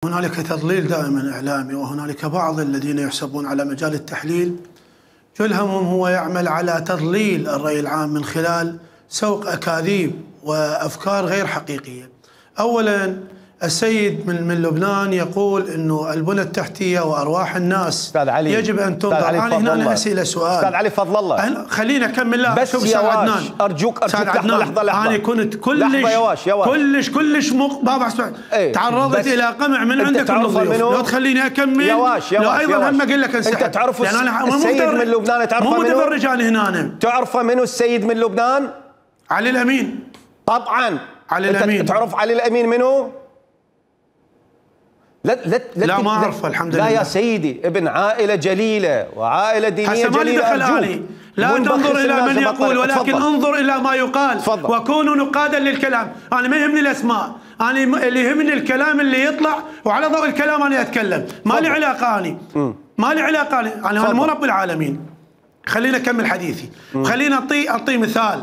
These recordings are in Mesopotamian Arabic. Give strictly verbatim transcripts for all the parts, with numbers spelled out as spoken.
هنالك تضليل دائما إعلامي، وهنالك بعض الذين يحسبون على مجال التحليل كل همهم هو يعمل على تضليل الرأي العام من خلال سوق أكاذيب وأفكار غير حقيقية. أولا، السيد من, من لبنان يقول أنه البنى التحتية وأرواح الناس أستاذ علي يجب أن تنظر. أنا هنا أسئلة سؤال أستاذ علي فضل الله، خلينا أكمل. لا بس يا واش أرجوك أرجوك لحظة لحظة لحظة. أنا كنت كلش لحظة يا واش يا واش كلش كلش مق... بابا اسمع، ايه تعرضت إلى قمع من عندك من الضيوف. لو تخليني أكمل يا واش يا لو واش أيضا هم أقول لك انسحب. أنت تعرف أنا السيد من لبنان، تعرفه مو منو؟ متفرج أنا هنا. تعرفه منو السيد من لبنان؟ علي الأمين. طبعا علي الأمين. تعرف علي الأمين منو؟ لا لا لا, لا ما اعرفه الحمد لله. لا يا سيدي، ابن عائله جليله وعائله دينيه جليله. أرجوك لا تنظر الى من يقول، ولكن فضل. انظر الى ما يقال. فضل. وكونوا نقادا للكلام. انا ما يهمني الاسماء، انا اللي يهمني الكلام اللي يطلع، وعلى ضوء الكلام انا اتكلم. ما لي علاقه، اني ما لي علاقه، انا انا مو رب العالمين. خلينا اكمل حديثي. خلينا اعطي اعطي مثال.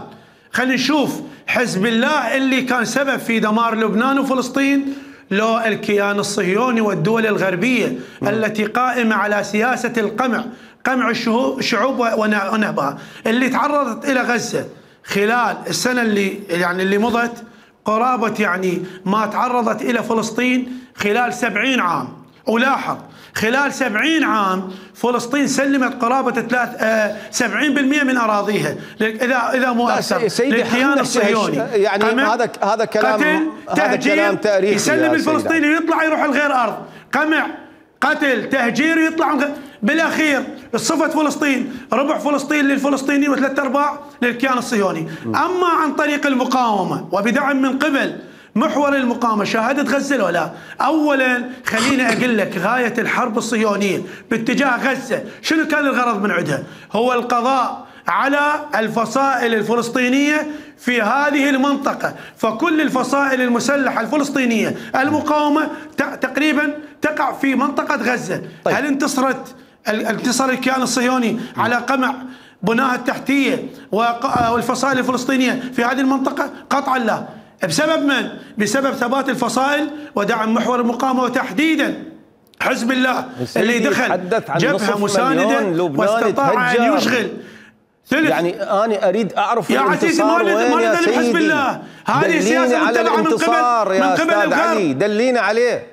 خلينا نشوف حزب الله اللي كان سبب في دمار لبنان وفلسطين، لو الكيان الصهيوني والدول الغربية م. التي قائمة على سياسة القمع، قمع الشعوب ونهبها، اللي تعرضت إلى غزة خلال السنة اللي يعني اللي مضت قرابة يعني ما تعرضت إلى فلسطين خلال سبعين عام. ولاحظ خلال سبعين عام فلسطين سلمت قرابة ثلاث آه سبعين بالمئة من أراضيها، إذا إذا مو أكثر، للكيان الصهيوني. يعني هذا هذا كلام هذا كلام تاريخي. يسلم الفلسطيني ويطلع يروح لغير أرض، قمع، قتل، تهجير، ويطلع بالأخير صفة فلسطين ربع فلسطين للفلسطينيين وثلاث أرباع للكيان الصهيوني. أما عن طريق المقاومة وبدعم من قبل محور المقاومة شاهدت غزة ولا؟ أولا خليني أقول لك غاية الحرب الصهيونية باتجاه غزة شنو كان الغرض من عندها؟ هو القضاء على الفصائل الفلسطينية في هذه المنطقة. فكل الفصائل المسلحة الفلسطينية المقاومة تقريبا تقع في منطقة غزة. طيب. هل انتصرت انتصر الكيان الصهيوني على قمع بناها التحتية والفصائل الفلسطينية في هذه المنطقة؟ قطعا لا. بسبب من؟ بسبب ثبات الفصائل ودعم محور المقاومة، وتحديدا حزب الله اللي دخل جبهة مساندة واستطاع أن يشغل ثلث. يعني أنا أريد أعرف يا عزيزي ما لنا حزب الله، هذه سياسة متبعة من قبل من قبل الغرب. دلينا عليه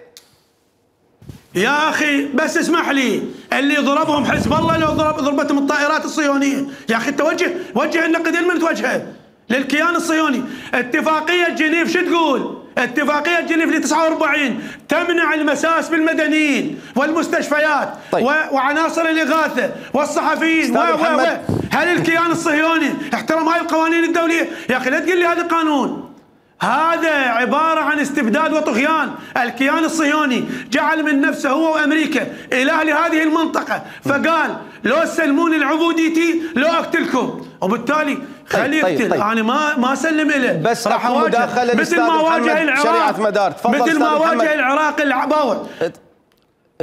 يا أخي، بس اسمح لي، اللي ضربهم حزب الله لو ضرب ضربتهم الطائرات الصهيونية. يا أخي توجه وجه النقد لمن توجهه؟ للكيان الصهيوني. اتفاقية جنيف شو تقول؟ اتفاقية جنيف ل تسعة وأربعين تمنع المساس بالمدنيين والمستشفيات. طيب. وعناصر الإغاثة والصحفيين و و و هل الكيان الصهيوني احترم هاي القوانين الدولية؟ يا أخي لا تقول لي هذا قانون، هذا عبارة عن استبداد وطغيان. الكيان الصهيوني جعل من نفسه هو وأمريكا إله لهذه المنطقة، فقال لو سلموني العبوديتي لو أقتلكم، وبالتالي خليه يقتل. طيب طيب. أنا ما ما اسلم له، بس راح اواجه مثل ما واجه العراق مثل ما واجه العراق العباوة.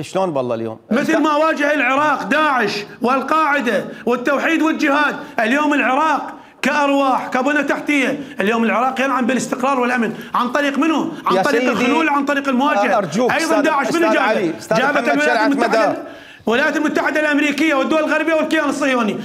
شلون بالله اليوم؟ مثل ما واجه العراق داعش والقاعدة والتوحيد والجهاد. اليوم العراق كأرواح كبنى تحتية، اليوم العراق ينعم بالاستقرار والأمن عن طريق منو؟ عن طريق الخلول، عن طريق المواجهة. أرجوك أيضا داعش منو جابه؟ جابت الولايات المتحدة الولايات المتحدة الأمريكية والدول الغربية والكيان الصهيوني.